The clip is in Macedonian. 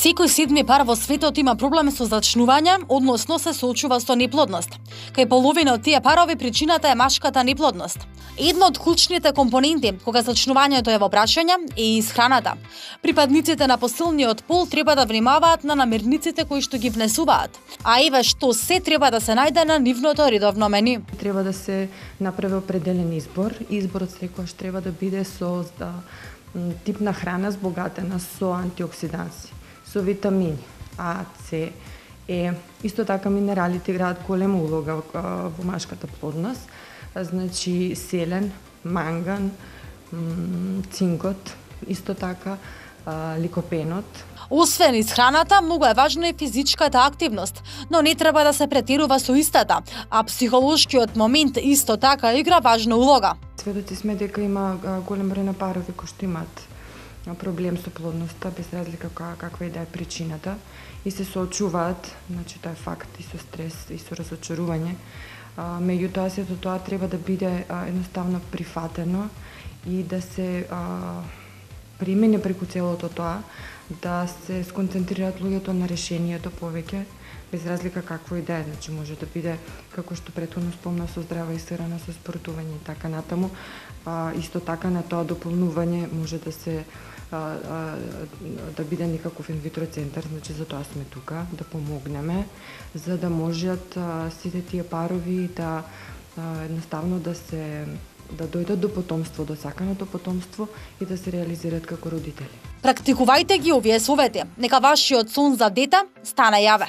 Секој седми пар во светот има проблем со зачнување, односно се соочува со неплодност. Кај половина од тие парови причината е машката неплодност. Едно од клучните компоненти кога зачнувањето е во прашање е исхраната. Припадниците на посилниот пол треба да внимаваат на намирниците кои што ги внесуваат. А еве што се треба да се најде на нивното редовно меню. Треба да се направи определен избор. Изборот секогаш треба да биде со тип на храна збогатена со антиоксиданси, со витамини А, С, Е. Исто така минералите играат голема улога во машката плодност. Значи селен, манган, цинкот, исто така ликопенот. Освен исхраната, многу е важна и физичката активност, но не треба да се претерува со истата, а психолошкиот момент исто така игра важна улога. Сведоци сме дека има голем број на парови кои што имаат проблем со плодноста, без разлика каква и да е причината, и се соочуваат, значи тоа е факт, и со стрес, и со разочарување. Меѓутоа, сето тоа треба да биде едноставно прифатено и да се примени преку целото тоа, да се сконцентрираат луѓето на решението повеќе, без разлика какво и да е. Значи може да биде, како што претходно спомна, со здрава исхрана, со спортување и така натаму. Исто така на тоа дополнување може да се да биде некаков инвитро центар, значи за тоа сме тука, да помогнеме, за да можат сите тие парови да едноставно да дојдат до потомство, до саканото потомство и да се реализираат како родители. Практикувајте ги овие совети. Нека вашиот сон за дете стане јаве.